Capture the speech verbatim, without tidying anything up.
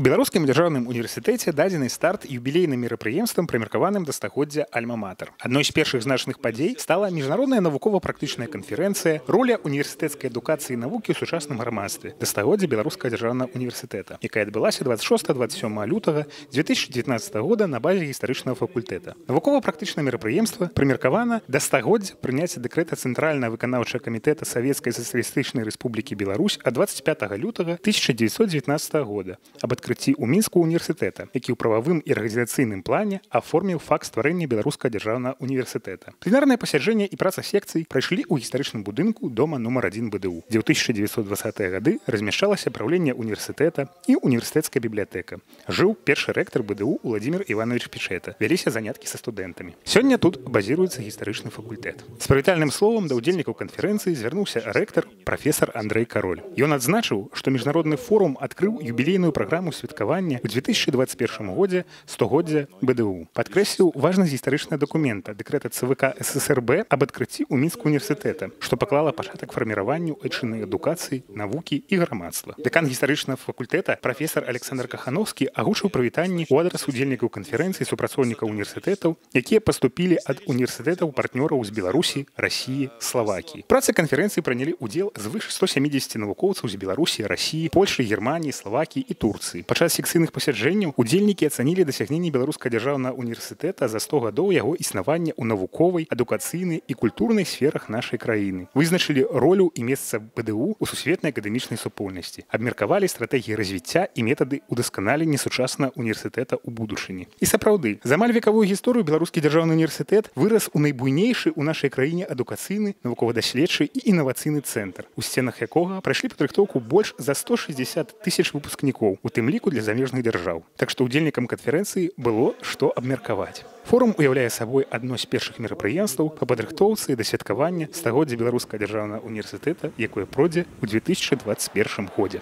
беларускім дзяржаўным універсітэце дадзены старт юбілейным мерапрыемствам, прымеркаваным да стагоддзя Альма-Матэр. Адной з першых значных падзей стала міжнародная навукова-практычная канферэнцыя «Роля універсітэцкай адукацыі і навукі ў сучасным грамадстве» да стагоддзя беларускага дзяржаўнага універсітэта, якая адбылася дваццаць шостага - дваццаць сёмага лютага дзве тысячы дзевятнаццатага года на базе гістарычнага факультэта. Навукова-практычнае мерапрыемства прымеркавана да стагоддзя прыняцця дэкрэта Цэнтральнага выканаўчага камітэта Савецкай сацыялістычнай рэспублікі Беларусь ад дваццаць пятага лютага тысяча дзевятьсот дзевятнаццатага года аб адкрыцці ў мінску універсітэта, які ў прававым і арганізацыйным плане аформіў факт стварэння беларускага дзяржаўнага універсітэта. Пленарнае пасяджэнне і праца секцый прайшлі ў гістарычным будынку дома нумар адзін БДУ, дзе ў тысяча дзевятьсот дваццатыя гады размяшчалася праўленне універсітэта і універсітэцкая бібліятэка. Жыў першы рэктар БДУ Уладзімір Іванович Пічэта. Вяліся заняткі са студэнтамі. Сёння тут базіруецца гістарычны факультэт. З прывітальным словам да ўдзельнікаў канферэнцыі звярнуўся рэктар прафесар Андрэй Кароль. Ён адзначыў, што міжнародны форум адкрыў юбілейную праграму святкавання ў дзве тысячы дваццаць першым годзе стагоддзя БДУ. Падкрэсліў важнасць гістарычнага дакумента дэкрэта ЦВК ССРБ аб адкрыцці ў мінску універсітэта, што паклала пачатак фарміраванню айчыннай адукацыі, навукі і грамадства. Дэкан гістарычнага факультэта прафесар Александр Кахановскі агучыў прывітанні ў адрас удзельнікаў канферэнцыі супрацоўнікаў універсітэтаў, якія паступілі ад універсітэтаў партнёраў з Беларусі, Расіі, Славакіі. Працы канферэнцыі прынялі ўдзел звыш ста сямідзесяці навукоўцаў з Беларусі, Расіі, Польшы, Германіі, Славакіі і Турцыі. Падчас секцыйных пасяджэнняў удзельнікі ацанілі дасягненні беларускага дзяржаўнага універсітэта за сто гадоў яго існавання ў навуковай, адукацыйнай і культурнай сферах нашай краіны. Вызначылі ролю і месца БДУ ў сусветнай акадэмічнай супольнасці. Абмеркавалі стратэгіі развіцця і метады ўдасканалення сучаснага універсітэта ў будучыні. І сапраўды, за амаль векавую гісторыю беларускі дзяржаўны універсітэт вырас у найбуйнейшы ў нашай краіне адукацыйны, навукова-даследчы і інавацыйны цэнтр, у сценах якога прайшлі падрыхтоўку больш за сто шэсцьдзесят тысяч выпускнікоў, у тым ліку для замежных дзяржаў. Так што ўдзельнікам канферэнцыі было што абмеркаваць. Форум уяўляе сабой адно з першых мерапрыемстваў па падрыхтоўцы да святкавання стагоддзя беларускага дзяржаўнага універсітэта, якое пройдзе ў дзве тысячы дваццаць першым годзе.